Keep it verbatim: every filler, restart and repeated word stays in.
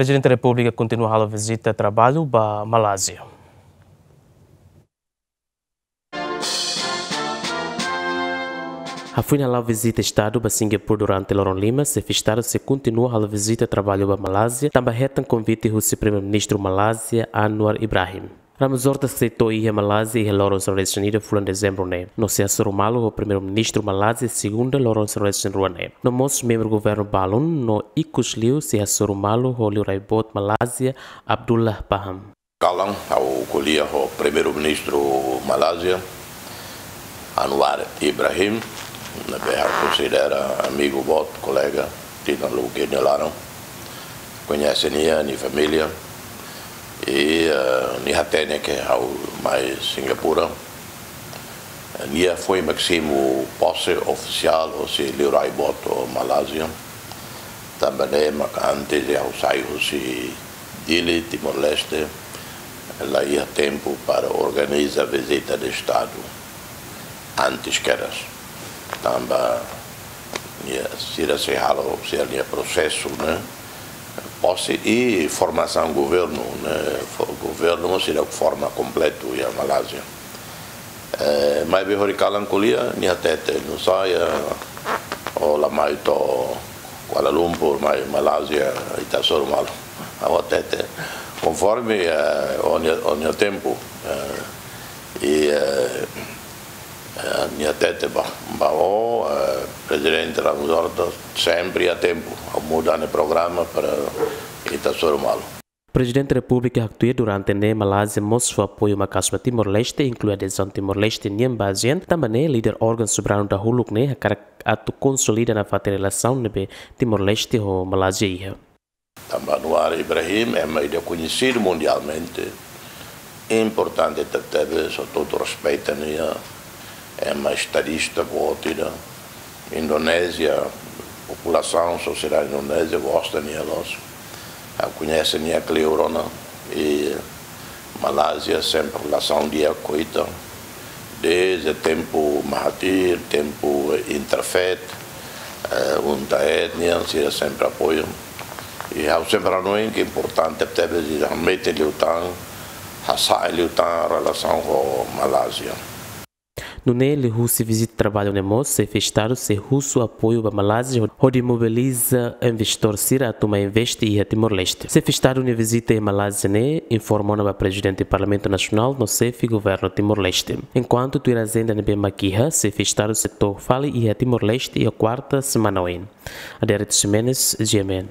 Prezidente Repúblika kontinua halo vizita traballu ba Malázia. Hafoin hala'o vizita Estadu ba Singapura durante loron lima, Xefe Estadu sei kontinua halo vizita traballu ba Malázia, tanba hetan konvite husi Primeiru-Ministru Malázia, Anwar Ibrahim. Ramos Horta sei to'o iha Malázia iha loron sanulu-resin-ida fulan Dezembru ne'e, no sei hasoru malu ho Primeiru-Ministru Malázia segunda loron sanulu-resin-rua ne'e. No mós membru governu balun no ikus liu sei hasoru malu ho liurai boot Malázia, Abdullah Pahang. Kalan, ha'u ko'alia ho Primeiru-Ministru Malázia, Anwar Ibrahim, ne'ebé ha'u konsidera amigu boot, kolega, tinan lubuk ida nia laran. Koñese nia, nia família. I, eh, nia hatene ke ha'u mai Singapura. Nia foin mak simu pose ofisiál hosi liurai boot Malázia. Tanba ne'e mak antes de ha'u sai husi Dili, Timor-Leste, la iha tempu para organiza vizita de Estadu antes kedas. Tanba nia, sira sei halo sira-nia prosesu, ne'e? Pose i formasaun governu, ne'e? Fo-, governu sira forma kompletu iha Malázia. Eh, maibé hori kalan ko'alia, nia hatete, nusá, eh, ó la mai to'o Kuala Lumpur, mai Malázia, ita hasoru malu. Ha'u hatete, konforme, eh, ó-nia, ó-nia tempu, eh, i, eh, eh, nia hatete ba, ba ó, eh, Prezidente Ramos Horta, sempre iha tempu, ha'u muda nia programa para ita hasoru malu. Prezidente Repúblika haktuir durante ne'e Malázia mós fó apoiu maka'as ba Timor-Leste, inklui adezaun Timor-Leste nian ba ASEAN, tanba ne'e líder órgaun soberanu dahuluk ne'e hakarak atu konsolida nafatin relasaun ne'ebé Timor-Leste ho Malázia iha. Tanba Anwar Ibrahim ema ida koñesidu mundialmente, importante tebetebes, ho todo respeitu nia, ema estadista boot ida. Indonézia, populasaun, sosiedade Indonézia gosta nia loos. Ha'u koñese nia kleur ona, i Malázia sempre relasaun di'ak ho ita. Desde tempu Mahathir, tempu Interfaith, eh, UNTAED nian, sira sempre apoiu. I ha'u sempre hanoin ke importante tebes ita hametin liután, hasa'e liután relasaun ho Malázia. Nune'e liuhusi vizita traballu ne'e mós, Xefe Estadu sei husu apoiu ba Malázia hodi mobiliza investidór sira atu mai investe iha Timor-Leste. Xefe Estadu nia vizita iha Malázia ne'e informa ona ba Prezidente Parlamentu Nasionál no Xefe Governu Timor-Leste. Enkuantu tuir ajenda ne'ebé mak iha, Xefe Estadu sei to'o fali iha Timor-Leste iha kuarta semana oin. Adérito Ximenes, G M N.